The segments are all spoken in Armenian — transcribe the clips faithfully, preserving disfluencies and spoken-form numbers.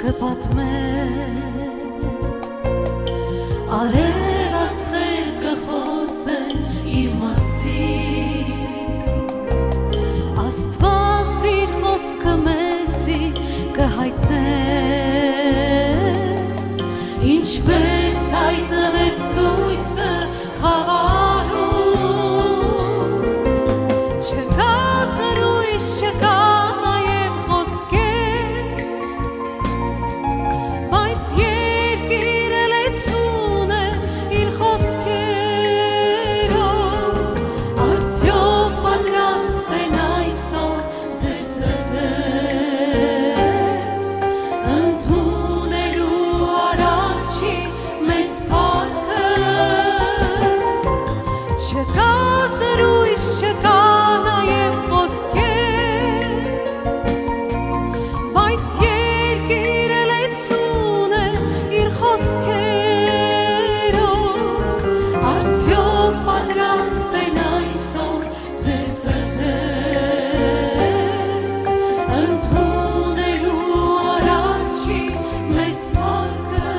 կպատմեն արև ասղեր կխոսեն իր մասին Աստված իր խոսքը մեզի կհայտնեն ինչպես հայտնվեց լույսը խավարում չկա զրույց չկա նաև խոսքեր բայց երկիրը լեցուն է իր խոսքերով արդյոք պատրաստ են այսօր ձեր սրտեր ընդունելու արարչի մեծ փառքը չկա զրույց չկա նաև խոսքեր բայց երկիրը լեցուն է իր խոսքերով արդյոք պատրաստ են այսօր ձեր սրտեր ընդունելու արարչի մեծ փառքը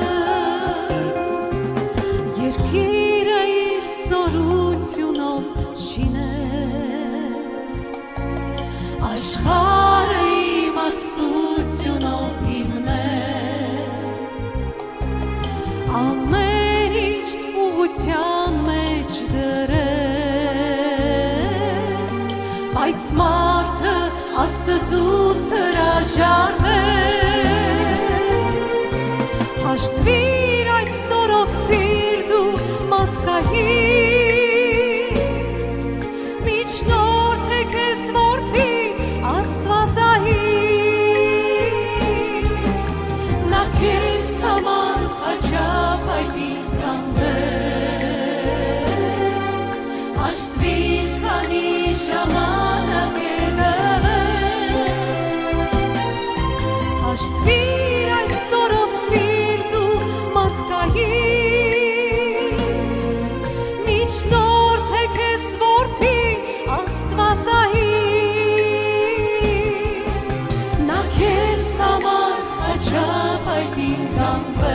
երկիրը իր զորությունով շինեց աշխարհը իմաստությունով հիմնեց ամեն ինչ ուղղության մեջ դրեց բայց մարդը Աստծուց հրաժարվեց հաշտվիր այսօրով սիրտ ու մարդկային միջնորդ է քեզ որդի Աստվածային նա քեզ համար խաչապայտի կանգնեց հաշտվիր քանի ժամանակ է տվել հաշտվիր այսօրով սիրտ ու մարդկային միջնորդ է քեզ որդի Աստվածային նա քեզ համար խաչապայտին կանգնեց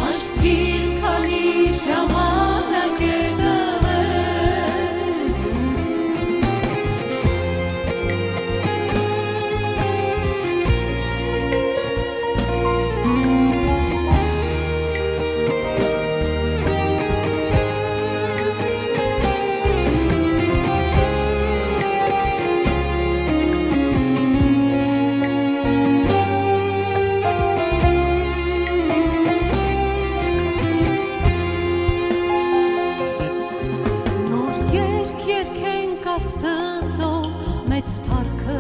հաշտվիր քանի ժամանակ է տվել Նոր երկ երկենք Աստծո մեծ փառքը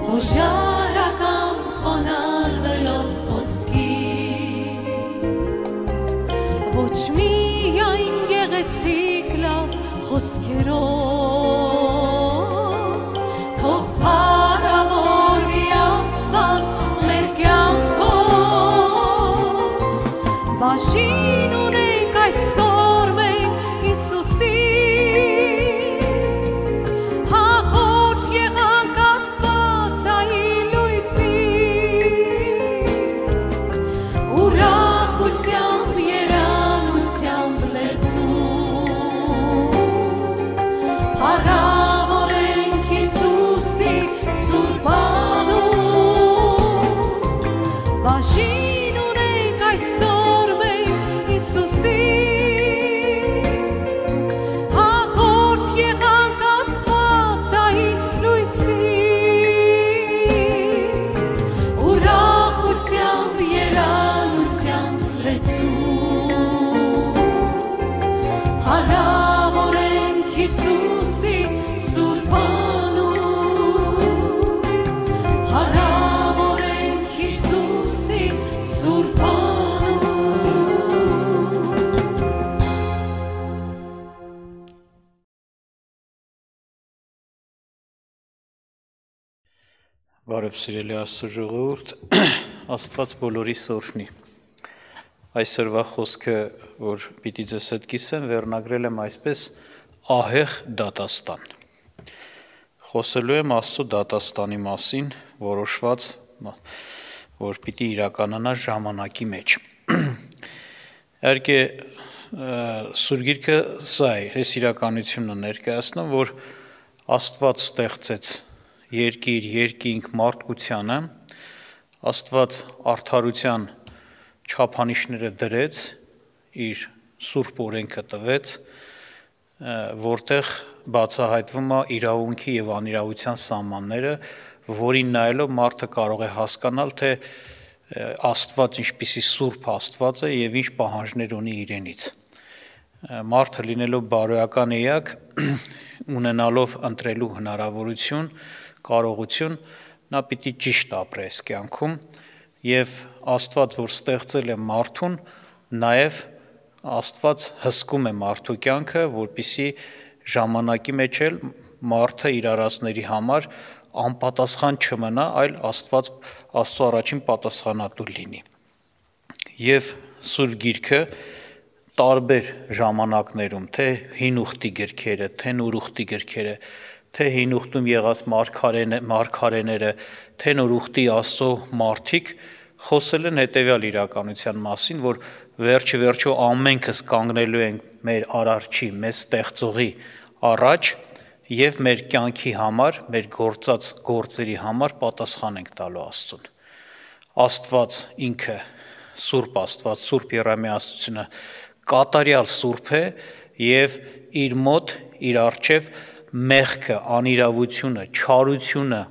հոժարական խոնարհվելով խոսքի ոչ միայն գեղեցիկ լավ խոսքերով թող փառավորվի Աստված մեր կյանքով բաժին ունենք այսօր մենք Հիսուսից հաղորդ եղանք Աստվածային լույսից ուրախությամբ երանությամբ լեցուն փառավորենք Հիսուսի սուրբ անուն բաժին ունենք այսօր մենք Հիսուսից հաղորդ եղանք Աստվածային լույսից ուրախությամբ երանությամբ լեցուն փառավորենք Հիսուսի սուրբ անուն փառավորենք Հիսուսի սուրբ անուն Բարև սիրելի Աստծո ժողովուրդ, Աստված բոլորիս օրհնի։ Այսօրվա խոսքը, որ պիտի ձեզ հետ կիսվեմ, վերնագրել եմ այսպես ահեղ դատաստան։ խոսելու եմ Աստծո դատաստանի մասին, որոշված, որ պիտի իրականանա ժամանակի մեջ։ Իհարկե Սուրբ Գիրքը սա է, այս իրականությունը ներկայացնում, որ Աստված ստեղծեց երկիր, երկինք, մարդկությանը, Աստված արդարության չափանիշները դրեց, իր սուրբ օրենքը տվեց, որտեղ բացահայտվում է իրավունքի եւ անիրավության սահմանները, որին նայելով մարդը կարող է հասկանալ, թե Աստված ինչպիսի սուրբ Աստված է եւ ինչ պահանջներ ունի իրենից։ Մարդը լինելով բարոյական էակ, ունենալով ընտրելու հնարավորություն, կարողություն, նա պիտի ճիշտ ապրի այս կյանքում եւ Աստված, որ ստեղծել է մարդուն, նաեւ Աստված հսկում է մարդու կյանքը, որպիսի ժամանակի մեջ էլ մարդը իր արածների համար անպատասխան չմնա, այլ Աստված Աստծո առաջին պատասխանատու լինի։ Եվ Սուրբ Գիրքը տարբեր ժամանակներում, թե հին ուխտի գրքերը, թե նոր ուխտի գրքերը, թե հին ուխտում եղած մարգարեները, թե նոր ուխտի Աստծո մարդիկ խոսել են հետևյալ իրականության մասին, որ վերջը վերջո ամենքս կանգնելու ենք մեր արարչի, մեզ ստեղծողի առաջ եւ մեր կյանքի համար, մեր գործած գործերի համար պատասխան ենք տալու Աստծուն։ Աստված ինքը Սուրբ Աստված, Սուրբ Երամիասությունը կատարյալ սուրբ է եւ իր մոտ, իր առջև մեղքը, անիրավությունը, չարությունը,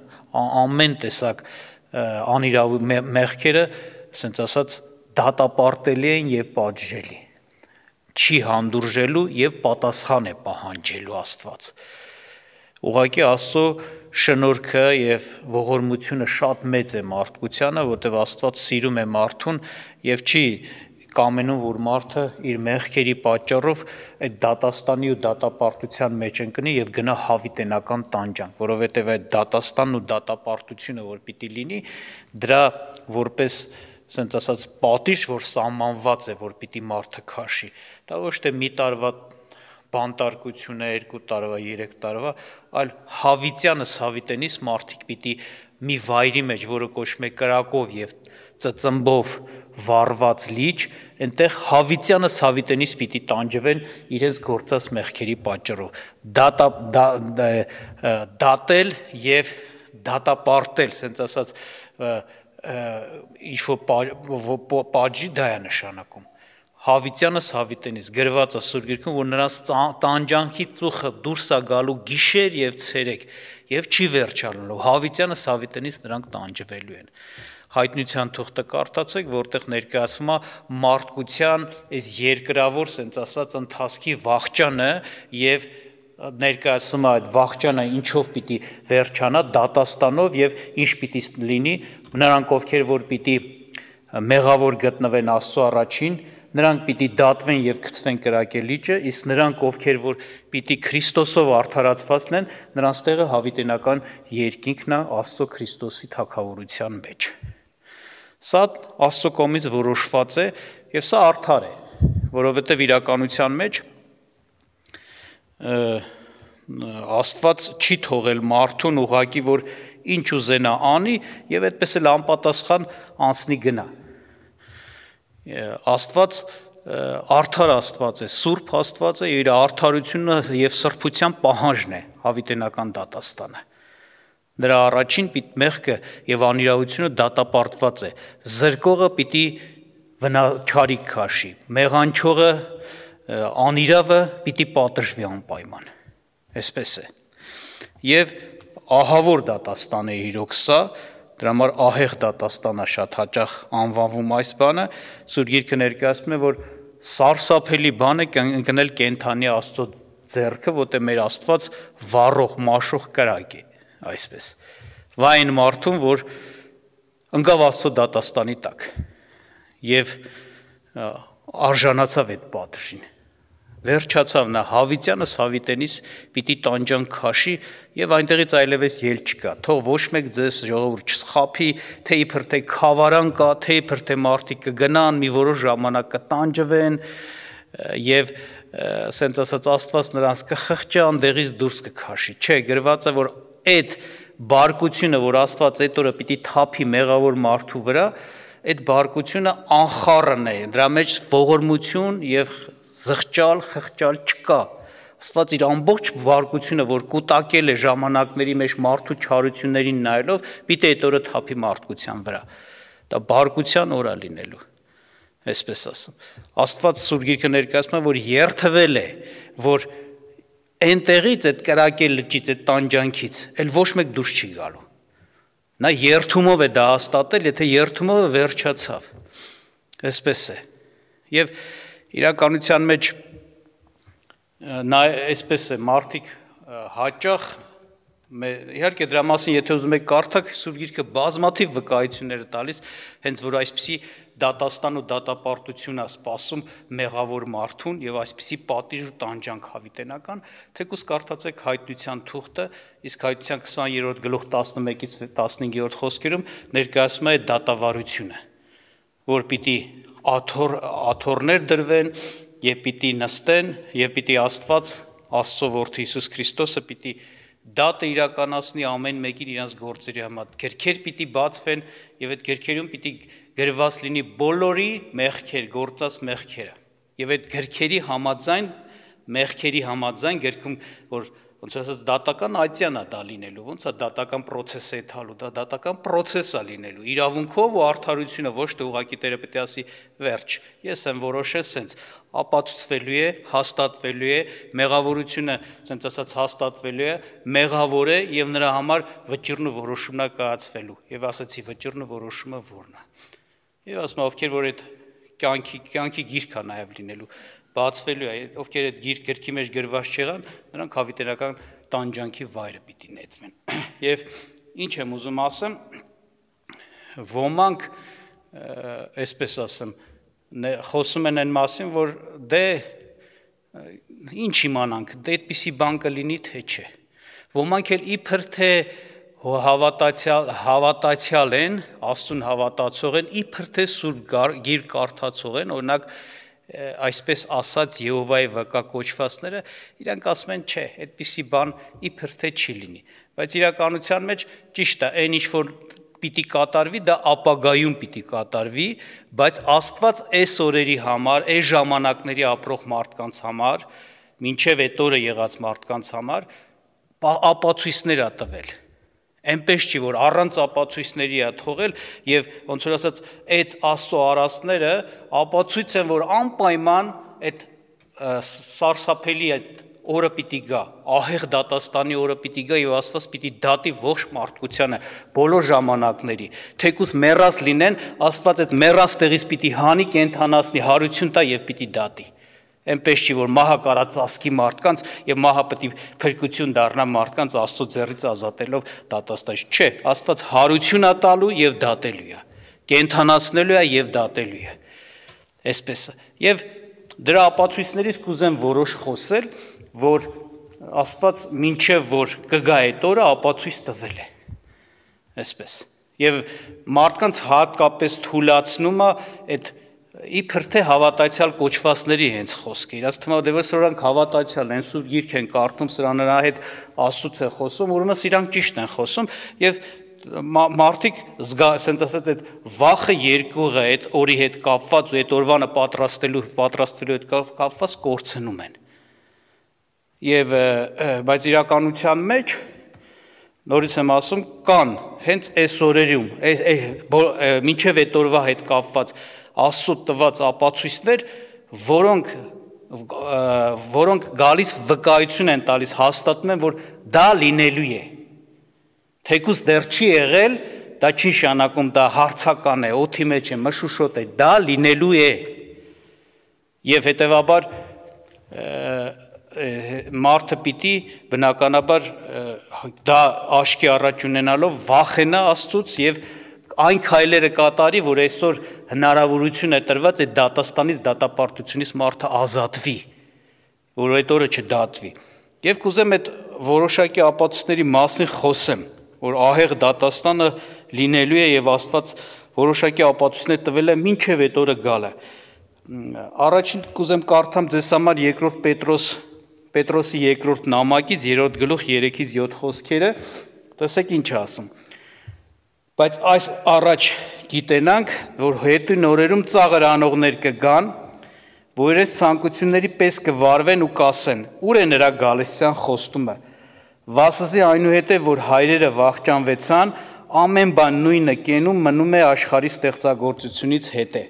ամեն տեսակ անիրավ մեղքերը, ասենց ասած, դատապարտելի են եւ պատժելի։ Չի հանդուրժելու եւ պատասխան է պահանջելու Աստված։ Ուղղակի Աստծո շնորհքը եւ ողորմությունը շատ մեծ է մարդկությանը, որտեղ Աստված սիրում է մարդուն եւ չի կամենում, որ մարդը իր մեղքերի պատճառով այդ դատաստանի ու դատապարտության մեջ ընկնի եւ գնա հավիտենական տանջանք, որովհետեւ այդ դատաստանն ու դատապարտությունը, որ պիտի լինի, դրա որպես ասենց ասած պատիժ, որ սահմանված է, որ պիտի մարդը քաշի, դա ոչ թե մի տարվա բանտարկություն է, երկու տարվա, երեք տարվա, այլ հավիտյանս հավիտենից մարդիկ պիտի մի վայրի մեջ, որը կոչվում է կրակով եւ ծծմբով վառված լիճ, այնտեղ հավիտյանս հավիտենից պիտի տանջվեն իրենց գործած մեղքերի պատճառով։ Դատա դատել եւ դատապարտել, ասենց ասած ինչ որ պատժի դա է նշանակում։ Հավիտյանս հավիտենից գրված է Սուրբ Գիրքում, որ նրանց տանջանքի ծուխը դուրս է գալու գիշեր եւ ցերեկ եւ չի վերջանալու։ Հավիտյանս հավիտենից նրանք տանջվելու են։ Հայտնության թուղթը կարդացեք, որտեղ ներկայացվում է մարդկության այս երկրավոր, ասենց ասած, ընթացքի վախճանը եւ ներկայացում է այդ վախճանը ինչով պիտի վերջանա, դատաստանով եւ ինչ պիտի լինի, նրանք ովքեր որ պիտի մեղավոր գտնվեն Աստծո առաջին, նրանք պիտի դատվեն եւ գցվեն կրակե լիճը, իսկ նրանք ովքեր որ պիտի Քրիստոսով արդարացված լինեն, նրանց տեղը հավիտենական երկինքն է Աստծո Քրիստոսի թագավորության մեջ։ Սա Աստծո կողմից որոշված է եւ սա արդար է, որովհետեւ իրականության մեջ Աստված չի թողել մարդուն ուղղակի որ ինչ ուզենա անի եւ այդպես էլ անպատասխան անցնի գնա։ Աստված արդար Աստված է, սուրբ Աստված է, իր արդարությունը եւ սրբության պահանջն է հավիտենական դատաստանը։ Նրա առաջին մեղքը եւ անիրավությունը դատապարտված է։ Զրկողը պիտի վնաչարիք քաշի, մեղանչողը, անիրավը պիտի պատժվի անպայման։ Այսպես է։ Եվ ահավոր դատաստան է իրոք սա, դրա համար ահեղ դատաստանա շատ հաճախ անվանվում այս բանը, Սուրբ Գիրքը ներկայացնում է, որ սարսափելի բան է ընկնել կենդանի Աստծո ձեռքը, որտեղ մեր Աստված վառող, մաշող կրակ է, այսպես։ Վայն մարդուն, որ ընկավ Աստծո դատաստանի տակ եւ արժանացավ այդ պատժին։ Վերջացավ նա հավիտյանս հավիտենից պիտի տանջան քաշի եւ այնտեղից այլևս ել չկա։ Թող ոչ մեկ ձեզ ժողովուրդ չխափի, թե իբր թե խավարան կա, թե իբր թե մարդիկ կգնան, մի որոշ ժամանակ կտանջվեն եւ ասենց ասած Աստված նրանց կխղճի, անդեղից դուրս կքաշի։ Չէ, գրված է, որ այդ բարկությունը, որ Աստված այդ օրը պիտի թափի մեղավոր մարդու վրա, այդ բարկությունը անխառն է, դրա մեջ ողորմություն եւ զղջալ, խղճալ չկա։ Աստված իր ամբողջ բարկությունը, որ կուտակել է ժամանակների մեջ մարդու չարություններին նայելով, պիտի այդ օրը թափի մարդկության վրա։ Դա բարկության օր է լինելու, այսպես ասեմ։ Աստված Սուրբ Գիրքը ներկայացնում է, որ երթվել է, որ այնտեղից այդ կրակել լճից, այդ տանջանքից, էլ ոչ մեկ դուրս չի գալու։ Նա երթումով է դա հաստատել, եթե երթումով վերջացավ։ Այսպես է։ Եվ իրականության մեջ նա այսպես է, մարդիկ հաճախ, իհարկե դրա մասին, եթե ուզում եք կարդաք, Սուրբ Գիրքը բազմաթիվ վկայություններ է տալիս, հենց որ այսպիսի դատաստան ու դատապարտություն է սպասում մեղավոր մարդուն եւ այսպիսի պատիժ ու տանջանք հավիտենական, թեկուզ կարդացեք Հայտնության թուղթը, իսկ Հայտնության քսաներորդ գլուխ տասնմեկից տասնհինգերորդ խոսքերում ներկայացում է դատավարությունը, որ պիտի աթոռ աթոռներ դրվեն եւ պիտի նստեն եւ պիտի Աստված, Աստծո որդի Հիսուս Քրիստոսը պիտի դատը իրականացնի ամեն մեկին իրանց գործերի համար, գրքեր պիտի բացվեն եւ այդ գրքերում պիտի գրված լինի բոլորի մեղքեր, գործած մեղքերը։ Եվ այդ գրքերի համաձայն, մեղքերի համաձայն գրքում, որ ոնց ասած դատական այցյան է դա լինելու, ոնց է դատական process է թալու, դա դատական process է լինելու, իրավունքով ու արդարությունը, ոչ թե ուղղակի Տերը պետք է ասի վերջ, ես եմ որոշել սենց, ապացուցվելու է, հաստատվելու է, մեղավորությունը, սենց ասած հաստատվելու է, մեղավոր է եւ նրա համար վճիռն ու որոշումն է կայացվելու, եւ ասացի վճիռն ու որոշումը որն է։ Եվ ասում ովքեր որ այդ կյանքի կյանքի գիրք է նաեւ լինելու, բացվելու է, ովքեր այդ գիրք գրքի մեջ գրված չեղան, նրանք հավիտենական տանջանքի վայրը պիտի նետվեն։ Եվ ինչ եմ ուզում ասեմ, ոմանք, այսպես ասեմ, խոսում են այն մասին, որ դե ինչ իմանանք, դե այդպիսի բան կլինի, թե չէ։ Ոմանք էլ իբր թե հավատացյալ հավատացյալ են, Աստծուն հավատացող են, իբր թե Սուրբ Գիրք կարդացող են, օրինակ այսպես ասած Եհովայի վկա կոչվածները, իրանք ասում են, չէ, այդպիսի բան իբր թե չի լինի, բայց իրականության մեջ ճիշտ է, այն ինչ որ պիտի կատարվի, դա ապագայում պիտի կատարվի, բայց Աստված այս օրերի համար, այս ժամանակների ապրող մարդկանց համար, մինչև այդ օրը եղած մարդկանց համար ապացույցներ է տվել։ Այնպես չի, որ առանց ապացույցների է թողել եւ ոնց որ ասած այդ Աստծո արածները ապացույց են, որ անպայման այդ սարսափելի այդ օրը պիտի գա, ահեղ դատաստանի օրը պիտի գա եւ Աստված պիտի դատի ողջ մարդկությանը բոլոր ժամանակների, թեկուզ մեռած լինեն, Աստված այդ մեռած տեղից պիտի հանի կենթանացնի, հարություն տա եւ պիտի դատի։ Այնպես չի, որ մահը կարա ծածկի մարդկանց եւ մահը պետք է փրկություն դառնա մարդկանց Աստծո ձեռից ազատելով դատաստանից։ Չէ, Աստված հարություն է տալու եւ դատելու է, կենթանացնելու է եւ դատելու է։ Այսպես է։ Եվ դրա ապացույցներից կուզեմ որոշ խոսել, որ Աստված մինչև որ կգա այդ օրը ապացույց տվել է։ Այսպես։ Եվ մարդկանց հատկապես թուլացնում է այդ իբր թե հավատացյալ կոչվածների հենց խոսքը, իրաց թվում է դեռ սրանք հավատացյալ են, Սուրբ Գիրք են կարդում, սրա նրա հետ Աստծուց է խոսում, ուրեմն իրանք ճիշտ են խոսում եւ մարդիկ ասենց ասած այդ վախը երկուղը այդ օրի հետ կապված ու այդ օրվանը պատրաստելու պատրաստվելու հետ կապված կորցնում են։ Եվ բայց իրականության մեջ նորից եմ ասում կան հենց այս օրերում, մինչև այդ օրվա հետ կապված Աստծո տված ապացույցներ, որոնք որոնք գալիս վկայություն են տալիս, հաստատում են, որ դա լինելու է։ Թեկուզ դեռ չի եղել, դա չի նշանակում, դա հարցական է, օդի մեջ է, մշուշոտ է, դա լինելու է։ Եվ հետևաբար մարդը պիտի բնականաբար դա աչքի առաջ ունենալով վախենա Աստծուց եւ այն քայլերը կատարի, որ այսօր հնարավորություն է տրված այդ դատաստանից, դատապարտությունից մարդը ազատվի, որ այդ օրը չդատվի։ Եվ կուզեմ այդ որոշակի ապացույցների մասին խոսեմ, որ ահեղ դատաստանը լինելու է եւ Աստված որոշակի ապացույցներ տվել է մինչեւ այդ օրը գալը։ Առաջին կուզեմ կարդամ ձեզ համար երկրորդ Պետրոս Պետրոսի երկրորդ նամակից երրորդ գլուխ երեքից յոթ խոսքերը, Տեսեք ինչ ասում։ Բայց այս առաջ գիտենանք, որ հետույն օրերում ծաղր անողներ կգան, որ իրենց ցանկությունների պես կվարվեն ու կասեն. ուր է նրա գալստյան խոստումը։ Վասզի այնուհետև որ հայրերը վախճանվեցան, ամեն բան նույնը կենում մնում է աշխարհի ստեղծագործությունից հետե։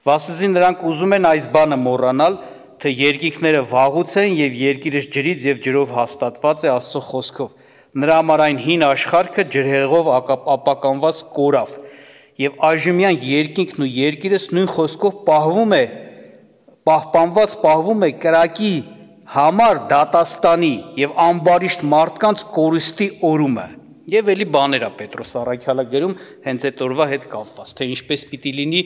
Վասզի նրանք ուզում են այս բանը մոռանալ, թե երկինքները վաղուց են եւ երկիրը ջրից եւ ջրով հաստատված է Աստծո խոսքով։ Նրա համար այն հին աշխարհքը ջրհեղով ապականված կորավ եւ այժմյան երկինքն ու երկիրս նույն խոսքով պահվում է, պահպանված պահվում է կրակի համար դատաստանի եւ ամբարիշտ մարդկանց կորստի օրումը։ Եվ էլի բաներ է Պետրոս Առաքյալը գրում հենց այդ օրվա հետ կապված, թե ինչպես պիտի լինի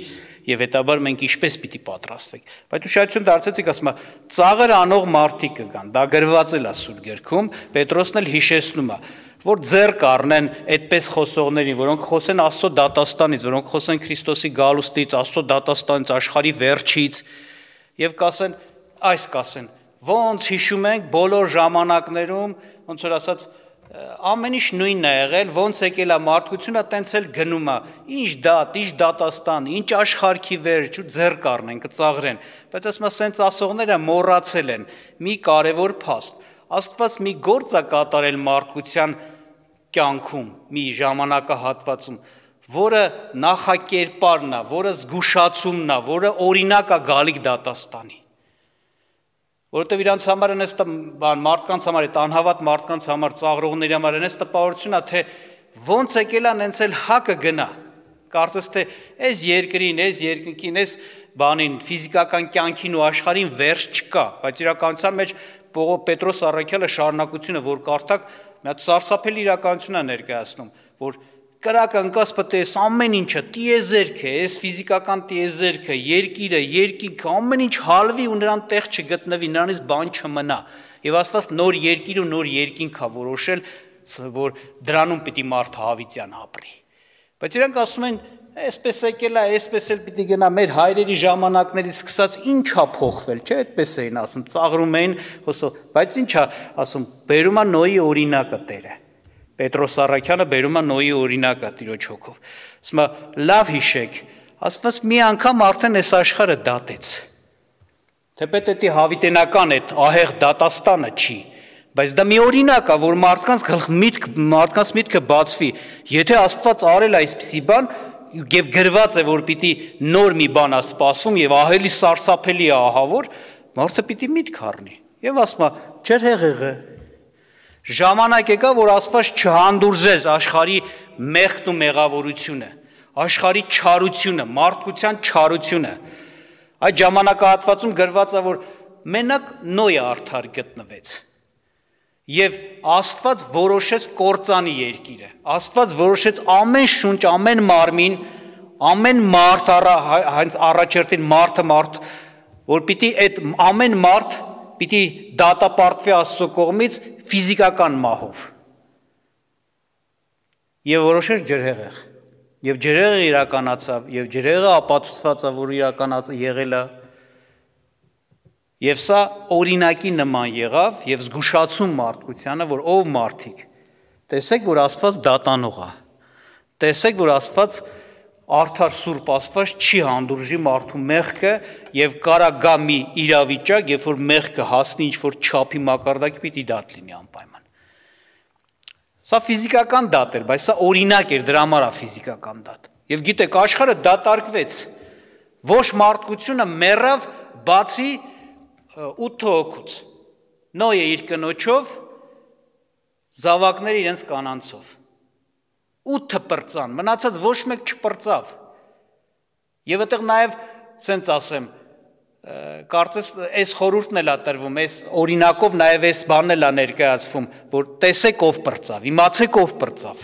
եւ հետաբար մենք ինչպես պիտի պատրաստվենք։ Բայց ուշադրություն դարձեցիք, ասում է, ծաղր անող մարդիկ կգան, դա գրված էլ է Սուրբ Գրքում, Պետրոսն էլ հիշեցնում է, որ ձեռ կառնեն այդպես խոսողներին, որոնք խոսեն Աստծո դատաստանից, որոնք խոսեն Քրիստոսի գալուստից, Աստծո դատաստանից, աշխարհի վերջից եւ կասեն, այս կասեն, ոնց հիշում ենք բոլոր ժամանակներում, ոնց որ ասած ամեն ինչ նույնն է եղել, ոնց եկել է մարդկությունը, տենց էլ գնում է, ինչ դատ, ինչ դատաստան, ինչ աշխարհքի վերջ, ու ձեռ կառնեն, կծաղրեն, բայց ասում է, սենց ասողները մոռացել են մի կարևոր փաստ, Աստված մի գործ է կատարել մարդկության կյանքում, մի ժամանակահատվածում, որը նախակերպարն է, որը զգուշացումն է, որը օրինակ է գալիք դատաստանի։ Որովհետև իրանց համար այնպես մարդկանց համար, այդ անհավատ մարդկանց համար, ծաղրողների համար այնպես տպավորություն է, թե ոնց եկել է նենց էլ հակը գնա։ Կարծես թե այս երկրին, այս երկնքին, այս բանին, ֆիզիկական կյանքին ու աշխարհին վերջ չկա, բայց իրականության մեջ Պետրոս Առաքյալը շարունակությունը, որ կարդաք, նա սարսափելի իրականություն է ներկայացնում, որ կրակը ընկած պետք է այս ամեն ինչը, տիեզերքը, այս ֆիզիկական տիեզերքը, երկիրը, երկինքը, ամեն ինչ հալվի ու նրան տեղ չգտնվի, նրանից բան չմնա։ Եվ Աստված նոր երկիր ու նոր երկինք է որոշել, որ դրանում պիտի մարդը հավիտյան ապրի։ Բայց իրանք ասում են, այսպես եկել է, այսպես էլ պիտի գնա, մեր հայրերի ժամանակներից սկսած ինչ է փոխվել, չէ՞, այդպես էին ասում, ծաղրում էին, խոսով, բայց ինչ է ասում, բերում է Նոյի օրինակը Տերը։ Պետրոս Առաքյանը բերում է Նոյի օրինակը Տիրոջ հոգով։ Ասում է, լավ հիշեք, Աստված մի անգամ արդեն այս աշխարհը դատեց։ Թեպետ դա հավիտենական է, ահեղ դատաստանը չի, բայց դա մի օրինակ է, որ մարդկանց միտք, մարդկանց միտքը բացվի։ Եթե Աստված արել այսպիսի բան, եւ գրված է, որ պիտի նոր մի բան է սպասում եւ ահելի սարսափելի է ահավոր, մարդը պիտի միտք առնի։ Եվ ասում է, «Ջեր հեղեղը, ժամանակ եկա, որ Աստված չհանդուրժեց աշխարհի մեղքն ու մեղավորությունը, աշխարհի չարությունը, մարդկության չարությունը։ Այդ ժամանակահատվածում գրված է, որ մենակ Նոյը արդար գտնվեց։ Եվ Աստված որոշեց կործանի երկիրը, Աստված որոշեց ամեն շունչ, ամեն մարմին, ամեն մարդ, հենց առաջերտին մարդը մարդ, որ պիտի այդ ամեն մարդ պիտի դատապարտվի Աստծո կողմից ֆիզիկական մահով։ Եվ որոշեց ջրհեղեղ։ Եվ ջրհեղեղը իրականացավ, եւ ջրհեղեղը ապացուցված է, որ իրականացել եղել է։ Եվ սա օրինակի նման եղավ եւ զգուշացում մարդկությանը, որ ով մարդիկ, տեսեք, որ Աստված դատանող է։ Տեսեք, որ Աստված արդար սուրբ Աստված չի հանդուրժի մարդու մեղքը եւ կարա գա մի իրավիճակ, երբ որ մեղքը հասնի ինչ որ չափի մակարդակի, պիտի դատ լինի անպայման։ Սա ֆիզիկական դատ էր, բայց սա օրինակ էր, դրա համար է ֆիզիկական դատ։ Եվ գիտեք, աշխարհը դատարկվեց։ Ոչ մարդկությունը մեռավ, բացի ութ հոգուց, Նոյը իր կնոջով, զավակները իրենց կանանցով, ութը պրծան, մնացած ոչ մեկ չպրծավ, և այդեղ նաև, սենց ասեմ, կարծես այս խորհուրդն էլ է տրվում, այս օրինակով նաև այս բանն էլ է ներկայացվում, որ տեսեք ով պրծավ, իմացեք ով պրծավ,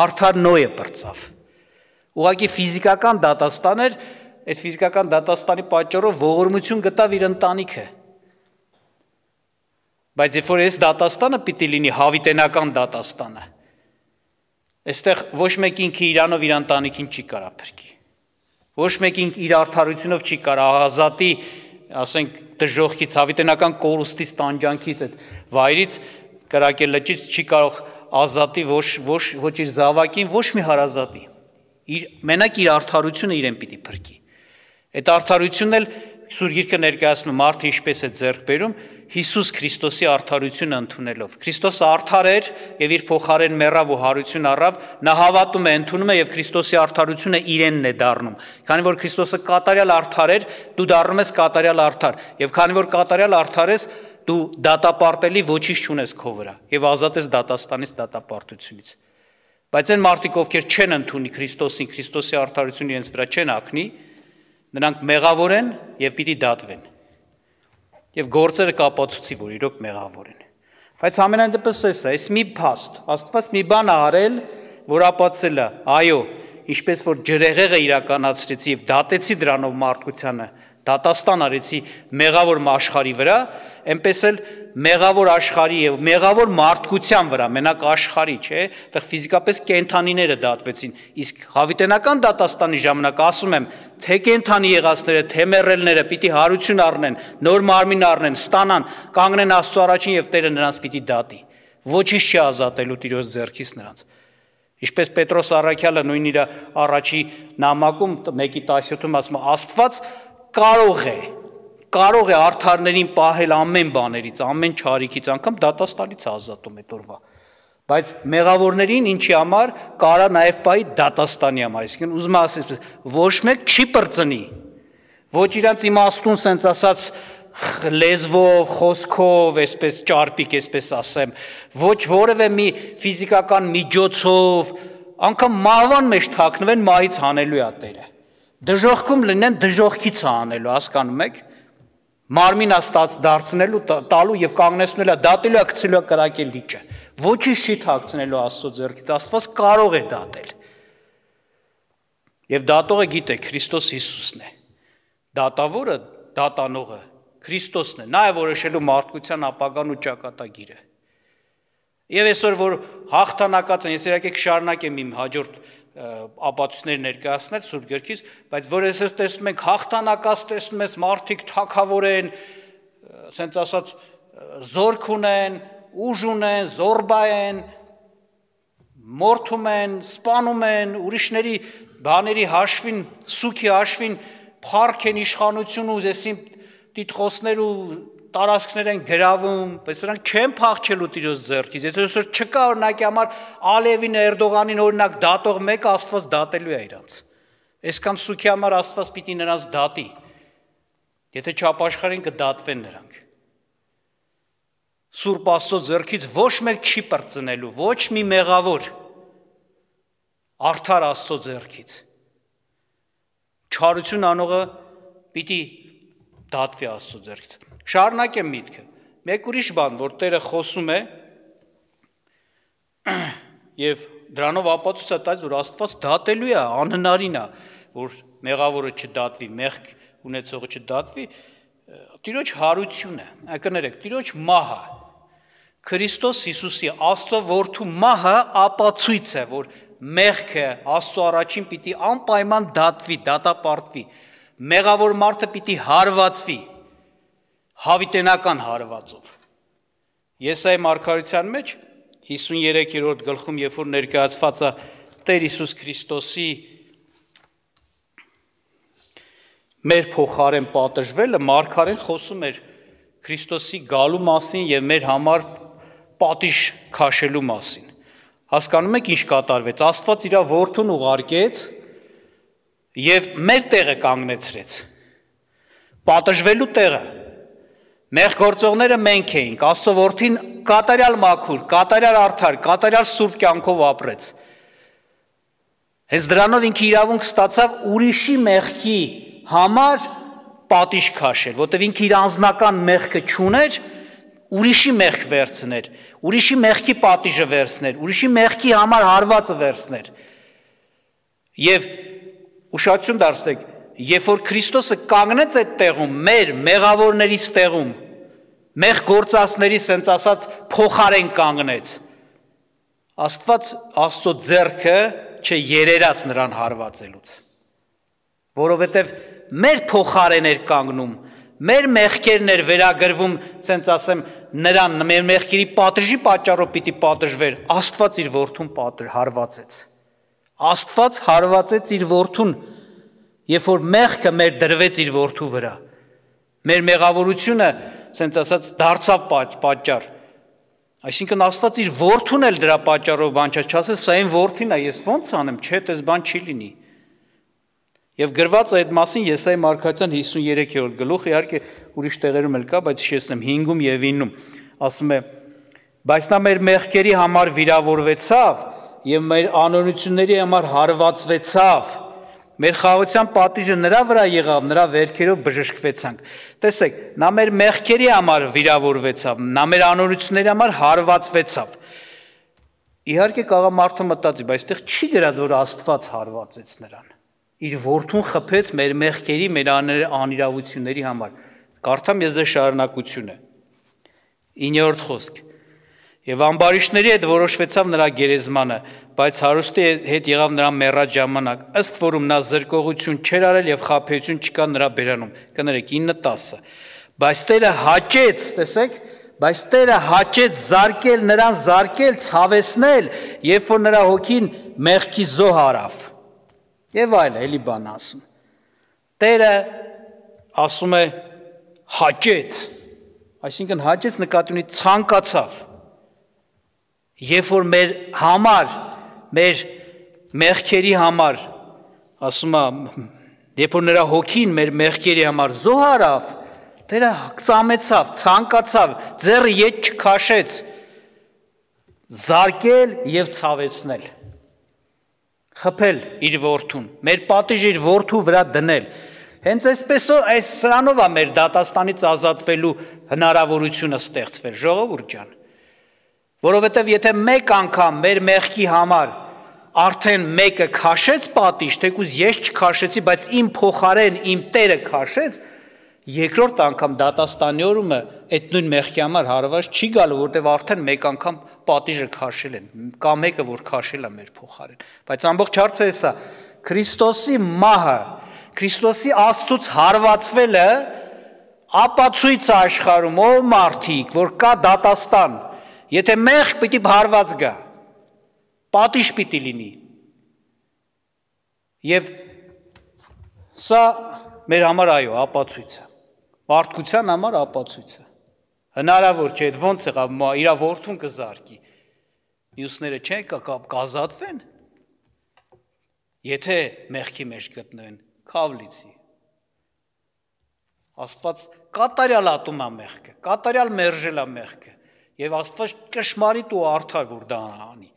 արդար Նոյը պրծավ, ուղղակի ֆիզիկական դատաստան էր, այդ ֆիզիկական դատաստանի պատճառով ողորմություն գտավ իր ընտանիքը։ Բայց երբ որ այս դատաստանը պիտի լինի հավիտենական դատաստանը, այստեղ ոչ մեկ ինքը իրանով իր ընտանիքին չի կարա փրկի։ Ոչ մեկ ինքը իր արդարությունով չի կարա ազատի, ասենք դժոխքից, հավիտենական կորուստից, տանջանքից, այդ վայրից, կրակել լճից չի կարող ազատի ոչ ոչ ոչ իր զավակին, ոչ մի հարազատի։ Իր մենակ իր արդարությունը իրեն պիտի փրկի։ Այդ արդարությունն էլ Սուրբ Գիրքը ներկայացնում մարդը ինչպես է ձեռք բերում Հիսուս Քրիստոսի արդարությունը ընդունելով։ Քրիստոսը արդար էր եւ իր փոխարեն մեռավ ու հարություն առավ, նա հավատում է, ընդունում է եւ Քրիստոսի արդարությունը իրենն է դառնում։ Քանի որ Քրիստոսը կատարյալ արդար էր, դու դառնում ես կատարյալ արդար, եւ քանի որ կատարյալ արդար ես, դու դատապարտելի ոչինչ չունես քո վրա եւ ազատ ես դատաստանից, դատապարտությունից։ Բայց այն մարդիկ, ովքեր չեն ընդունի Քրիստոսին, Քրիստոսի արդարությունը իրենց վրա չեն ակնի, նրանք մեղավոր են եւ պիտի դատվեն։ Եվ գործերը կապացուցի, որ իրոք մեղավոր են։ Բայց ամենայն դեպս էս է, այս մի փաստ, Աստված մի բան արել, որ ապացել է, այո, ինչպես որ ջրեղեղը իրականացրեցի եւ դատեցի դրանով մարդկությանը, դատաստան արեցի մեղավոր աշխարհի վրա, այնպես էլ մեղավոր աշխարհի եւ մեղավոր մարդկության վրա, մենակ աշխարհի, չէ, այդտեղ ֆիզիկապես կենթանիները դատվեցին, իսկ հավիտենական դատաստանի ժամանակ ասում եմ, թե կենթանի եղածները, թե մեռելները պիտի հարություն առնեն, նոր մարմին առնեն, ստանան, կանգնեն Աստծո առաջին եւ Տերը նրանց պիտի դատի։ Ոչինչ չի ազատելու Տիրոջ ձեռքից նրանց։ Ինչպես Պետրոս առաքյալը նույն իր առաջի նամակում մեկի տասյոթում ասում է, Աստված կարող է կարող է արդարներին պահել ամեն բաներից, ամեն չարիքից, անգամ դատաստանից ազատում այդ օրվա։ Բայց մեղավորներին ինչի համար կարա նաև պահի դատաստանի համար, այսինքն ուզում եմ ասել, ոչ մեկ չի պրծնի, ոչ իրանց իմաստուն սենց ասած լեզվով, խոսքով, այսպես ճարպիկ, այսպես ասեմ, ոչ որևէ մի ֆիզիկական միջոցով, անգամ մահվան մեջ թաքնվեն, մահից հանելու է Տերը։ Դժոխքում լինեն, դժոխքից հանելու, հասկանում եք։ Մարմին աստած դարձնելու, տալու եւ կանգնեցնելու, դատելու, գցելու, կրակել լիճը։ Ոչինչ չի թաքցնելու Աստծո ձեռքից, Աստված կարող է դատել։ Եվ դատողը գիտե, Քրիստոս Հիսուսն է։ Դատավորը, դատանողը Քրիստոսն է, նա է որոշելու մարդկության ապագան ու ճակատագիրը։ Եվ այսօր որ հաղթանակած են, ես եկեք շարունակեմ իմ հաջորդ ապացույցներ ներկայացնել Սուրբ Գրքից, բայց որ այսօր տեսնում ենք հաղթանակած տեսնում ես մարդիկ թագավոր են, ասենց ասած զորք ունեն, ուժ ունեն, զորբա են, մորթում են, սպանում են, ուրիշների բաների հաշվին, սուքի հաշվին փառք են իշխանություն ու այսին տիտղոսներ ու տարածքներ են գրավում, բայց նրանք չեն փախչելու Տիրոջ ձեռքից։ Եթե այսօր չկա օրինակի համար Ալիևին, Էրդողանին օրինակ դատող մեկը, Աստված դատելու է իրանց։ Այսքան սուքի համար Աստված պիտի նրանց դատի։ Եթե չապաշխարեն կդատվեն նրանք։ Սուրբ Աստծո ձեռքից ոչ մեկ չի պրծնելու, ոչ մի մեղավոր արդար Աստծո ձեռքից։ Չարություն անողը պիտի դատվի Աստծո ձեռքից։ Շարունակեմ միտքը։ Մեկ ուրիշ բան, որ Տերը խոսում է եւ դրանով ապացույց է տալիս, որ Աստված դատելու է, անհնարին է, որ մեղավորը չդատվի, մեղք ունեցողը չդատվի, Տիրոջ հարությունը, կներեք, Տիրոջ մահը, Քրիստոս Հիսուսի Աստծո որդու մահը ապացույց է, որ մեղքը Աստծո առաջին պիտի անպայման դատվի, դատապարտվի, մեղավոր մարդը պիտի հարվածվի, հավիտենական հարվածով։ Եսայի մարգարության մեջ հիսուներեքերորդ գլխում, երբ որ ներկայացված է Տեր Հիսուս Քրիստոսի մեր փոխարեն պատժվելը, մարգարեն խոսում էր Քրիստոսի գալու մասին եւ մեր համար պատիժ քաշելու մասին։ Հասկանում եք ինչ կատարվեց։ Աստված իր որդուն ուղարկեց եւ մեր տեղը կանգնեցրեց։ Պատժվելու տեղը Մեղ գործողները մենք էինք, Աստծո որդին կատարյալ մաքուր, կատարյալ արդար, կատարյալ սուրբ կյանքով ապրեց։ Հենց դրանով ինքը իրավունք ստացավ ուրիշի մեղքի համար պատիժ քաշել, որտեղ ինքը իր անձնական մեղքը չուներ, ուրիշի մեղք վերցներ, ուրիշի մեղքի պատիժը վերցներ, ուրիշի մեղքի համար հարվածը վերցներ։ Եվ ուշադրություն դարձրեք, երբ որ Քրիստոսը կանգնեց այդ տեղում, մեր մեղավորներից տեղում, մեղ գործածների սենց ասած փոխարեն կանգնեց, Աստված Աստծո ձեռքը չերերաց նրան հարվածելուց, որովհետև մեր փոխարեն էր կանգնում, մեր մեղքերն էր վերագրվում, սենց ասեմ, նրան մեր մեղքերի պատժի պատճառով պիտի պատժվեր, Աստված իր որդուն հարվածեց։ Աստված հարվածեց իր որդուն, երբ որ մեղքը մեր դրվեց իր որդու վրա։ Մեր մեղավորությունը, ասենց ասած, դարձավ պատճառ։ Այսինքն Աստված իր որդուն էլ դրա պատճառով բան չէ, չասես սա այն որդին է, ես ո՞նց անեմ, չէ, դες բան չի լինի։ Եվ գրված է այդ մասին Եսայի մարգարեության հիսուններորդ գլուխ, իհարկե ուրիշ տեղերում էլ կա, բայց հիշեցնեմ հինգում եւ իննում, ասում է. բայց նա մեր մեղքերի համար վիրավորվեցավ եւ մեր անօրենությունների համար հարվածվեցավ։ Մեր խաղաղության պատիժը նրա վրա եղավ, նրա վերքերով բժշկվեցանք։ Տեսեք, նա մեր մեղքերի համար վիրավորվեցավ, նա մեր անօրենությունների համար հարվածվեցավ։ Իհարկե կարող մարդը մտածի, բայց այդտեղ չի գրած, որ Աստված հարվածեց նրան։ Իր որդուն խփեց մեր մեղքերի, մեր անիրավությունների համար։ Կարդամ ես ձեզ շարունակությունը։ իններորդ խոսք։ Եվ ամբարիշտների հետ որոշվեցավ նրա գերեզմանը, բայց հարուստի հետ եղավ նրա մեռած ժամանակ, ըստ որում նա զրկողություն չէր արել եւ խաբեություն չկա նրա բերանում։ Կներեք ինը տասը։ Բայց Տերը հաճեց, տեսեք, բայց Տերը հաճեց զարկել նրան, զարկել, ցավեցնել, երբ որ նրա հոգին մեղքի զոհ արավ։ Եվ այլ, էլի բան ասում։ Տերը ասում է հաճեց, այսինքն հաճեց նկատի ունի ցանկացավ։ Երբ որ մեր համար, մեր մեղքերի համար, ասում է, երբ որ նրա հոգին մեր մեղքերի համար զոհ արավ, Տերը ծամեցավ, ցանկացավ, ձեռը ետ չքաշեց, զարկել եւ ցավեցնել, խփել իր որդուն, մեր պատիժը իր որդու վրա դնել։ Հենց այսպես այս սրանով է մեր դատաստանից ազատվելու հնարավորությունը ստեղծվել, ժողովուրդ ջան։ Որովհետև եթե մեկ անգամ մեր մեղքի համար արդեն մեկը քաշեց պատիժ, թեկուզ ես չքաշեցի, բայց իմ փոխարեն իմ Տերը քաշեց, երկրորդ անգամ դատաստանի օրումը այդ նույն մեղքի համար հարված չի գալու, որտեղ արդեն մեկ անգամ պատիժը քաշել են, կա մեկը, որ քաշել է մեր փոխարեն։ Բայց ամբողջ հարցը էսա, Քրիստոսի մահը, Քրիստոսի Աստծուց հարվածվելը ապացույց է աշխարհում, ով մարդիկ, որ կա դատաստան։ Եթե մեղ պիտի հարված գա, պատիժ պիտի լինի։ Եվ սա մեր համար այո, ապացույց է։ Մարդկության համար ապացույց է։ Հնարավոր չէ, այդ ոնց եղավ, իր որդուն կզարկի։ Մյուսները չէ, կազատվեն։ Եթե մեղքի մեջ գտնվեն, քավլիցի։ Աստված կատարյալ ատում է մեղքը, կատարյալ մերժել է մեղքը։ Եվ Աստված կշմարիտ ու արդար որ դա անի։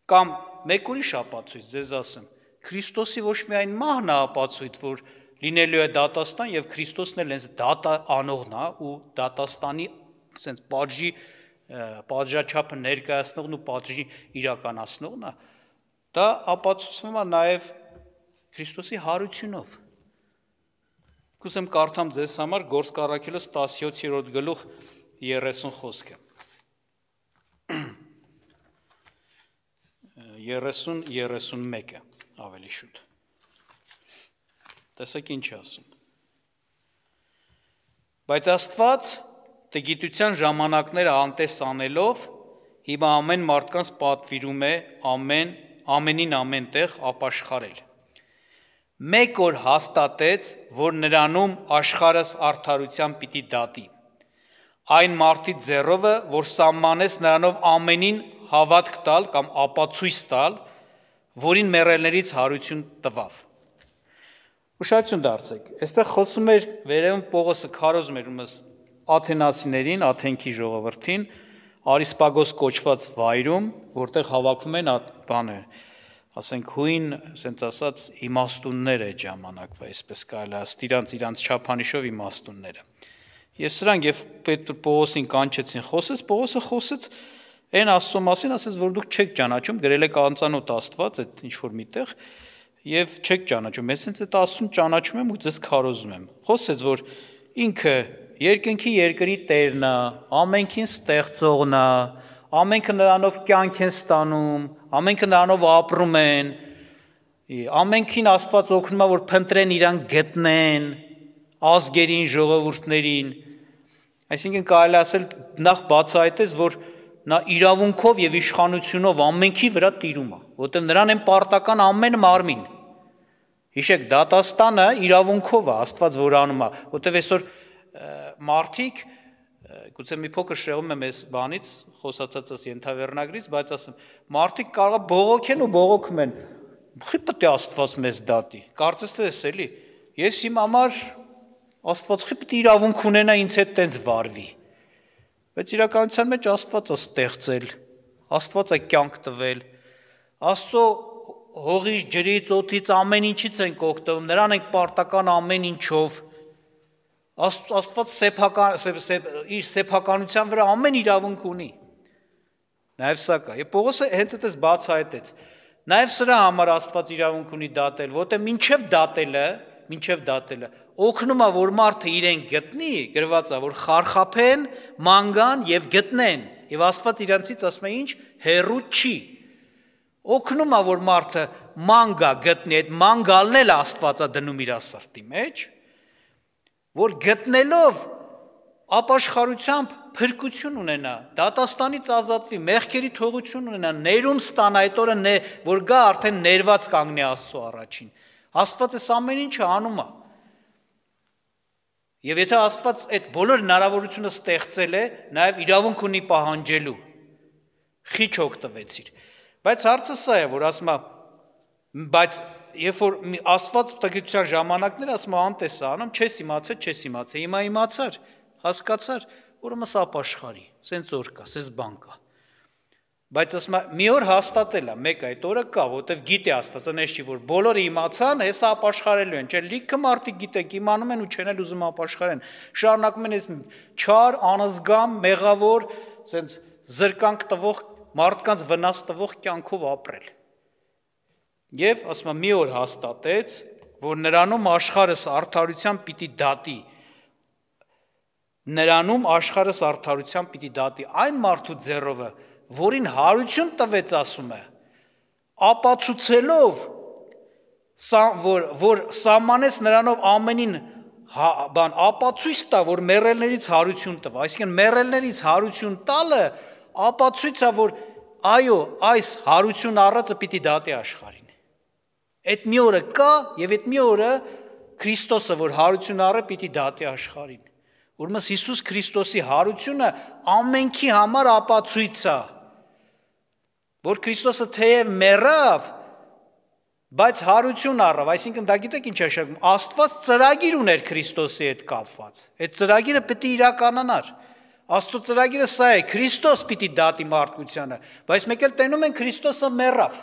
Կամ մեկ ուրիշ ապացույց, ձեզ ասեմ, Քրիստոսի ոչ միայն մահն է ապացույց, որ լինելու է դատաստան եւ Քրիստոսն էլ հենց դատա անողն է ու դատաստանի sense պատժի պատժաչափը ներկայացնողն ու պատժի իրականացնողն է, դա ապացուցվում է նաեւ Քրիստոսի հարությունով։ Կուզեմ կարդամ ձեզ համար Գործք առաքելոց տասնյոթերորդ գլուխ երեսուն խոսքը։ երեսուն երեսուն մեկը ավելի շուտ։ Տեսեք ինչ ասում։ Բայց Աստված տգիտության ժամանակները անտես անելով հիմա ամեն մարդկանց պատվիրում է ամեն ամենին ամենտեղ ապաշխարել։ Մեկ օր հաստատեց, որ նրանում աշխարհս արդարությամբ պիտի դատի։ Այն մարդի ձեռովը, որ սահմանեց նրանով ամենին հավատք տալ կամ ապացույց տալ, որին մեռելներից հարություն տվավ։ Ուշադրություն դարձեք, այստեղ խոսում էր վերևում Պողոսը քարոզում էր ումս աթենացիներին, Աթենքի ժողովրդին, Արիսպագոս կոչված վայրում, որտեղ հավաքվում են բանը, ասենք հույն, ասենց ասած, իմաստուններ է ժամանակվա, այսպես կարելի է, իրանց իրանց չափանիշով իմաստունները։ Եվ սրանք եւ Պետր Պողոսին կանչեցին խոսեց, Պողոսը խոսեց այն Աստծո մասին, ասեց, որ դուք չեք ճանաչում, գրել եք անծանոթ Աստված, այդ ինչ որ միտեղ, եւ չեք ճանաչում։ Ես ինձ այդ Աստծուն ճանաչում եմ ու ձեզ քարոզում եմ։ Խոսեց, որ ինքը երկնքի երկրի Տերն է, ամենքին ստեղծողն է, ամենքը նրանով կյանք են ստանում, ամենքը նրանով ապրում են, ամենքին Աստված օգնում է, որ փնտրեն իրան գտնեն, ազգերին, ժողովուրդներին, Այսինքն կարելի ասել նախ բացահայտեց, որ նա իրավունքով եւ իշխանությունով ամենքի վրա տիրում է, որտեղ նրան են պարտական ամեն մարմին։ Հիշեք, դատաստանը իրավունքով է, Աստված որ անում է, որտեղ այսօր մարդիկ, գուցե մի փոքր շեղում եմ այս բանից, խոսածածս ենթավերնագրից, բայց ասեմ, մարդիկ կարող է բողոքեն ու բողոքում են, խի պետք է Աստված մեզ դատի։ Կարծես թե էս էլի, ես իմ համար Աստված խի պետք է իրավունք ունենա ինձ հետ տենց վարվի։ Բայց իրականության մեջ Աստված է ստեղծել, Աստված է կյանք տվել, Աստծո հողից, ջրից, օդից ամեն ինչից ենք օգտվում, նրան ենք պարտական ամեն ինչով։ Աստված սեփական իր սեփականության վրա ամեն իրավունք ունի։ Նաև սա կա։ Եվ Պողոսը հենց այդպես բացահայտեց։ Նաև սրա համար Աստված իրավունք ունի դատել, որտեղ մինչև դատելը, մինչև դատելը օգնում է, որ մարդը իրեն գտնի, գրված է, որ խարխափեն, ման գան եւ գտնեն։ Եվ Աստված իրանցից ասում է ինչ, հեռու չի։ Օգնում է, որ մարդը ման գա գտնի, այդ ման գալն էլ Աստված է դնում իր սրտի մեջ, որ գտնելով ապաշխարությամբ փրկություն ունենա, դատաստանից ազատվի, մեղքերի թողություն ունենա, ներում ստանա, այդ օրը որ գա արդեն ներված կանգնի Աստծո առաջին։ Աստված այս ամեն ինչը անում է։ Եվ եթե Աստված այդ բոլոր հնարավորությունը ստեղծել է, նաև իրավունք ունի պահանջելու, խիչ օգտվեցիր։ Բայց հարցը սա է, որ ասում է, բայց երբ որ Աստված տգիտության ժամանակներ ասում է անտես անում, չես իմացել, չես իմացել, հիմա իմացար, հասկացար, ուրեմն սա ապաշխարի, սենց օր կա, սենց բան կա։ Բայց ասում է, մի օր հաստատել է, մեկ այդ օրը կա, որտեվ գիտի Աստված, այնպես չի, որ բոլորը իմացան, հեսա ապաշխարելու են, չէ, լիքը մարդիկ գիտեք, իմանում են ու չեն էլ ուզում ապաշխարեն, շարունակում են այս չար, անզգամ, մեղավոր, սենց զրկանք տվող, մարդկանց վնաս տվող կյանքով ապրել։ Եվ ասում է, մի օր հաստատեց, որ նրանում աշխարհս արդարությամբ պիտի դատի, նրանում աշխարհս արդարությամբ պիտի դատի, այն մարդու ձեռովը, որին հարություն տվեց, ասում է, ապացուցելով, որ, որ սահմանեց նրանով ամենին բան, ապացույց տա, որ մեռելներից հարություն տվա, այսինքն մեռելներից հարություն տալը, ապացույց է, որ այո, այս հարություն առածը պիտի դատի աշխարհին։ Այդ մի օրը կա, եւ այդ մի օրը Քրիստոսը, որ հարություն առը, պիտի դատի աշխարհին։ Ուրեմն Հիսուս Քրիստոսի հարությունը ամենքի համար ապացույց է, որ Քրիստոսը թեև մեռավ, բայց հարություն առավ, այսինքն դա գիտեք ինչ է շարքում, Աստված ծրագիր ուներ Քրիստոսի հետ կապված, այդ ծրագիրը պիտի իրականանար, Աստծո ծրագիրը սա է, Քրիստոս պիտի դատի մարդկությանը, բայց մեկ էլ տենում են Քրիստոսը մեռավ,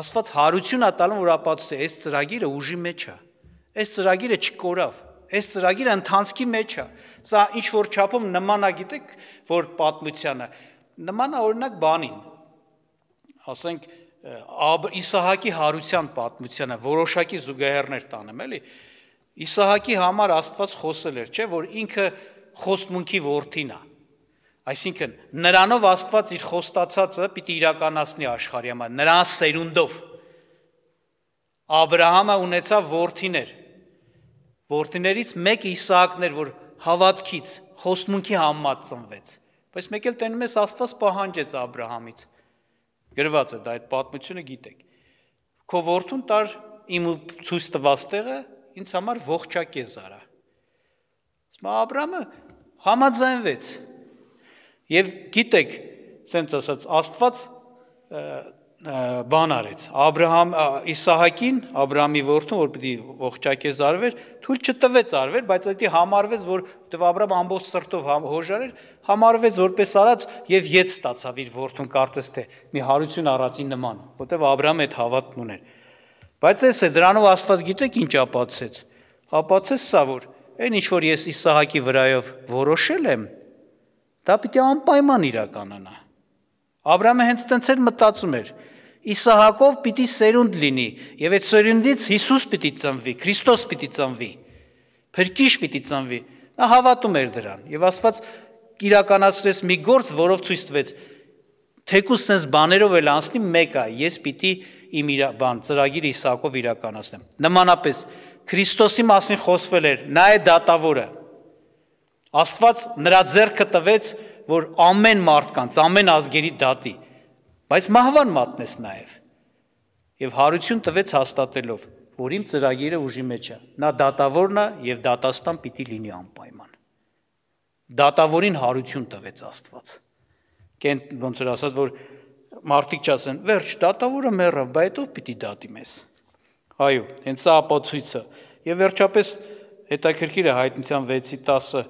Աստված հարություն է տալում, որ ապացուցի, այս ծրագիրը ուժի մեջ է, այս ծրագիրը չկորավ, այս ծրագիրը ընթանցքի մեջ է, սա ինչ որ չափով նման է, գիտեք, որ պատմությանը, նման է օրինակ բանին, ասենք Իսահակի հարության պատմությանը, որոշակի զուգահեռներ տանեմ, էլի, Իսահակի համար Աստված խոսել էր, չէ, որ ինքը խոստմունքի որդին է, այսինքն նրանով Աստված իր խոստացածը պիտի իրականացնի աշխարհի համար, նրան սերունդով, Աբրահամը ունեցավ որդիներ, որդիներից մեկը Իսահակն էր, որ հավատքից, խոստմունքի համեմատ ծնվեց, բայց մեկ էլ տենում ես Աստված պահանջեց Աբրահամից, գրված է դա այդ պատմությունը գիտեք, քո որդուն տար իմ ցույց տված տեղը ինձ համար ողջակեզ արա, ասում Աբրահամը համաձայնվեց, եւ գիտեք, սենց ասած Աստված բան արեց, Աբրահամ Իսահակին, Աբրահամի որդուն, որ պիտի ողջակեզ արվեր, թույլ չտվեց արվեր, բայց դա համարվեց, որ դեպի Աբրահամը ամբողջ սրտով հոժար էր, համարվեց որպես արած եւ ետ ստացավ իր որդուն կարծես թե մի հարություն առածի նման, որտեվ Աբրահամը այդ հավատն ուներ։ Բայց էս է դրանով Աստված գիտեք ինչ ապացուցեց։ Ապացուցեց սա, որ այն ինչ որ ես Իսահակի վրայով որոշել եմ, դա պիտի անպայման իրականանա։ Աբրահամը հենց տենց էր մտածում էր, Իսահակով պիտի սերունդ լինի, եւ այդ սերունդից Հիսուս պիտի ծնվի, Քրիստոս պիտի ծնվի, Փրկիչ պիտի ծնվի։ Նա հավատում էր դրան, եւ Աստված իրականացրեց մի գործ, որով ցույց տվեց, թեկուզ sense բաներով էլ անցնի մեկ է, ես պիտի իմ իր բան ծրագիրը Իսահակով իրականացնեմ։ Նմանապես Քրիստոսի մասին խոսվել էր, նա է դատավորը։ Աստված նրա ձեռքը տվեց, որ ամեն մարդկանց, ամեն ազգերի դատի, բայց մահվան մատնես նաև։ Եվ հարություն տվեց հաստատելով, որ իմ ծրագիրը ուժի մեջ է։ Նա դատավորն է եւ դատաստան պիտի լինի անպայման։ Դատավորին հարություն տվեց Աստված։ Կեն ոնց որ ասած, որ մարդիկ չասեն, վերջ, դատավորը մեռավ, բայց ով պիտի դատի մեզ։ Այո, հենց սա ապացույցը։ Եվ վերջապես հետաքրքիր է Հայտնության վեցի տասը,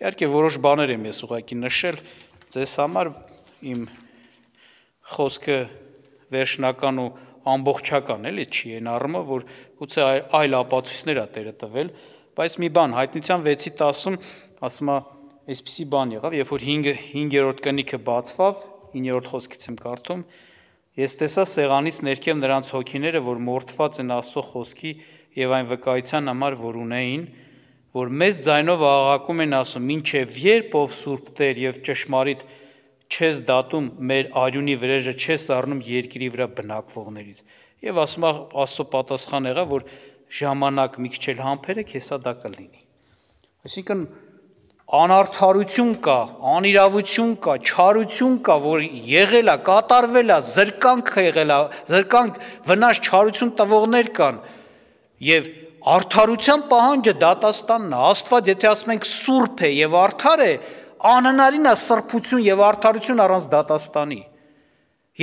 իհարկե որոշ բաներ եմ ես ուղղակի նշել, ձեզ համար իմ խոսքը վերջնական ու ամբողջական էլի չի այն առումով, որ գուցե այլ ապացույցներ է Տերը տվել, բայց մի բան Հայտնության վեցի տասում ասում է, այսպիսի բան եղավ, երբ որ հինգերորդ կնիքը բացվավ, իններորդ խոսքից եմ կարդում, ես տեսա սեղանից ներքև նրանց հոգիները, որ մորթված են Աստծո խոսքի եւ այն վկայության համար, որ ունեին, որ մեծ ձայնով աղաղակում են ասում, մինչև երբ ով Սուրբ Տեր եւ ճշմարիտ չես դատում մեր արյունի վրեժը չես առնում երկրի վրա բնակվողներից։ Եվ ասում է Աստծո պատասխան եղավ, որ ժամանակ մի քիչ էլ համբերեք, հեսա դա կլինի։ Այսինքն անարդարություն կա, անիրավություն կա, չարություն կա, որ եղել է, կատարվել է, զրկանք եղել է, զրկանք վնաս չարություն տվողներ կան եւ արդարության պահանջը դատաստանն է։ Աստված եթե ասում ենք սուրբ է եւ արդար է, անհնարին է սրբություն եւ արդարություն առանց դատաստանի։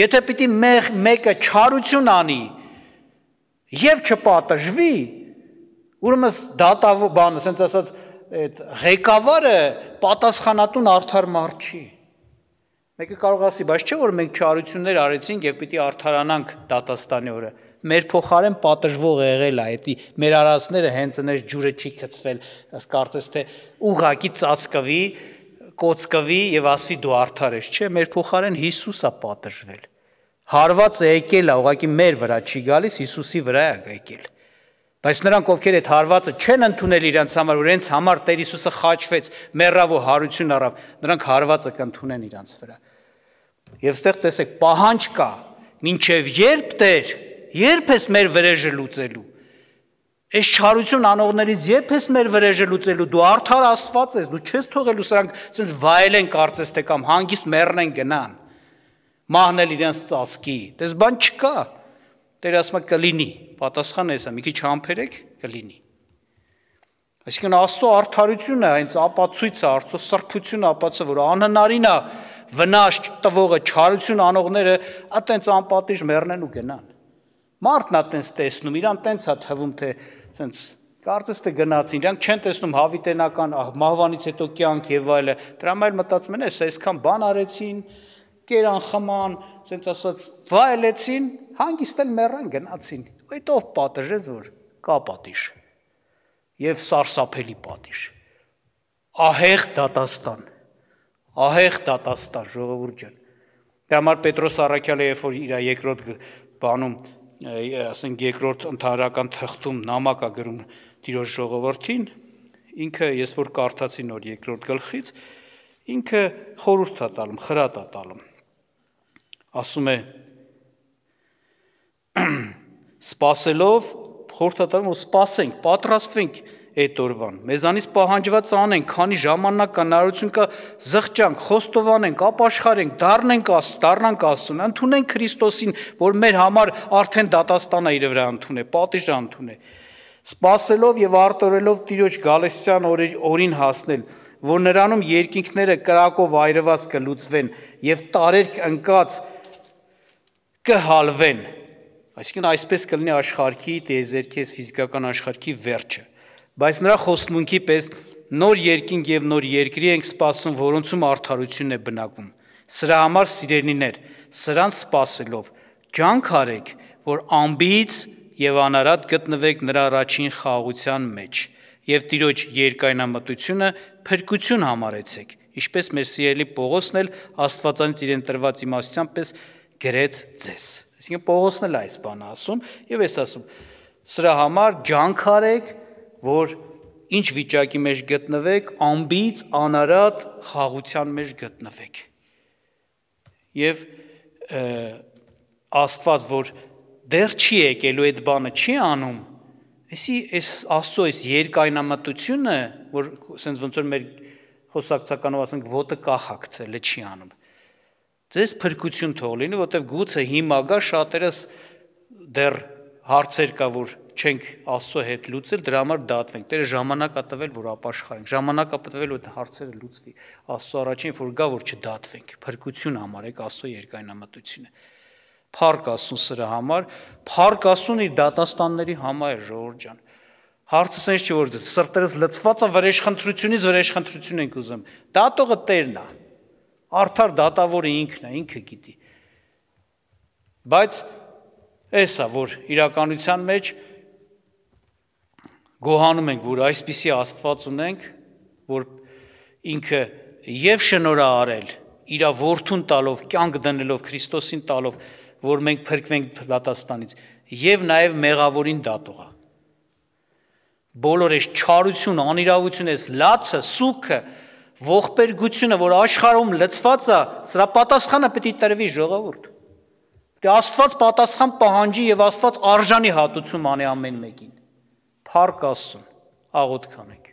Եթե պիտի մեկը չարություն անի եւ չպատժվի, ուրեմն դատավոր բանը, ասենց ասած, այդ ղեկավարը պատասխանատուն արդար մարդ չի։ Մեկը կարող ասի, բայց չէ որ մենք չարություններ արեցինք եւ պիտի արդարանանք դատաստանի օրը։ Մեր փոխարեն պատժվող եղել է, էդի մեր արածները հենց այնպես ջուրը չի գցվել, ըստ կարծես թե ուղակի ծածկվի, կոծկվի եւ ասվի դու արդար ես, չէ, մեր փոխարեն Հիսուս է պատժվել։ Հարվածը եկել է, ուղղակի մեր վրա չի գալիս, Հիսուսի վրա է եկել։ Բայց նրանք, ովքեր այդ հարվածը չեն ընդունել իրենց համար, որ իրենց համար Տեր Հիսուսը խաչվեց, մեռավ ու հարություն առավ, նրանք հարվածը կընդունեն իրենց վրա։ Եվ ստեղ տեսեք, պահանջ կա, մինչև երբ Տեր, երբ ես մեր վրեժը լուծելու։ Այս չարություն անողներից երբ ես մեր վրեժը լուծելու, դու արդար Աստված ես, դու չես թողելու սրանք ասենց վայելեն կարծես թե կամ հանգիստ մեռնեն գնան։ Մահնել իրենց ծածկի։ Դες բան չկա։ Տերը ասում է կլինի, պատասխանը էսա, մի քիչ համբերեք, կլինի։ Այսինքն Աստծո արդարությունը, հենց ապացույցը, Աստծո սրբությունը ապացույցը, որ անհնարին է վնաս տվողը, չարություն անողները, այտենց անպատիժ մեռնեն ու գնան։ Մարդն է տենց տեսնում, իրան տենց է թվում, թե սենց կարծես թե գնացին, իրանք չեն տեսնում հավիտենական մահվանից հետո կյանք եւ այլը, դրա համար մտածում են, էս այսքան բան արեցին, կերան խման, սենց ասած վայելեցին, հանգիստ էլ մեռան գնացին։ Այդ ով պատժեց, որ կա պատիժ եւ սարսափելի պատիժ։ Ահեղ դատաստան, ահեղ դատաստան, ժողովուրդ ջան։ Դա համար Պետրոս Առաքյալը, երբ որ իր երկրորդ բանում, ասենք երկրորդ ընդհանրական թղթում նամակ է գրում Տիրոջ ժողովրդին, ինքը ես որ կարդացի նոր երկրորդ գլխից, ինքը խորհուրդ է տալում, խրատ է տալում։ Ասում է սպասելով խորհուրդ է տալում, որ սպասենք, պատրաստվենք այդ օրվան։ Մեզանից պահանջված անենք, քանի ժամանակ կա, հնարավորություն կա, զղջանք, խոստովանենք, ապաշխարենք, դառնանք Աստծուն, դառնանք Աստծուն, ընդունենք Քրիստոսին, որ մեր համար արդեն դատաստանը իր վրա ընդունել, պատիժը ընդունել։ Սպասելով եւ արտորելով Տիրոջ գալստյան օրին հասնել, որ նրանում երկինքները կրակով այրված կլուծվեն եւ տարերք ընկած կհալվեն։ Այսինքն այսպես կլինի աշխարհի տիեզերքի ֆիզիկական աշխարհի վերջը։ Բայց նրա խոստմունքի պես նոր երկինք եւ նոր երկրի ենք սպասում, որոնցում արդարությունն է բնակվում։ Սրա համար սիրելիներ, սրանց սպասելով ջանք արեք, որ ամբից եւ անարատ գտնվեք նրա առաջին խաղաղության մեջ եւ Տիրոջ երկայնամտությունը փրկություն համարեցեք, ինչպես մեր սիրելի Պողոսն էլ Աստվածանից իրեն տրված իմաստության պես գրեց ձեզ։ Այսինքն Պողոսն էլ այս բանը ասում եւ ես ասում սրա համար ջանք արեք, որ ինչ վիճակի մեջ գտնվեք, ամբից անարատ խաղաղության մեջ գտնվեք։ Եվ Աստված, որ դեռ չի եկելու այդ բանը չի անում, այսի այս Աստծո այս երկայնամտությունը, որ ասենց ոնց որ մեր խոսակցականով ասենք ոտը կահակցել է չի անում։ Ձեզ փրկություն թող լինի, որտեվ գուցե հիմա գա շատերս դեռ հարցեր կա, որ չենք Աստծո հետ լուծել, դրա համար դատվենք։ Տերը ժամանակ ա տվել, որ ապաշխարենք։ Ժամանակ ա տվել, որ հարցերը լուծվի։ Աստծո առաջին որ գա, որ չդատվենք։ Փրկություն համարեք Աստծո երկայնամտությունը։ Փառք Աստծուն սրա համար, փառք Աստծուն իր դատաստանների համար, ժողովուրդ ջան։ Հարցը sense չի որ սրտերս լցված է վրեժխնդրությունից վրեժխնդրություն ենք ուզում։ Դատողը Տերն է։ Արդար դատավորը ինքն է, ինքը գիտի։ Բայց էսա որ իրականության մեջ գոհանում ենք, որ այսպիսի Աստված ունենք, որ ինքը եւ շնորհ արել իր որդուն տալով, կյանք դնելով Քրիստոսին տալով, որ մենք փրկվենք դատաստանից, եւ նաեւ մեղավորին դատողա։ Բոլոր այս չարություն, անիրավություն, այս լացը, սուքը, ողբերգությունը, որ աշխարհում լցված է, սրա պատասխանը պետք է տրվի ժողովուրդ։ Դե Աստված պատասխան պահանջի եւ Աստված արժանի հատուցում անի ամեն մեկին։ Փառք Աստծուն, աղոթք անենք։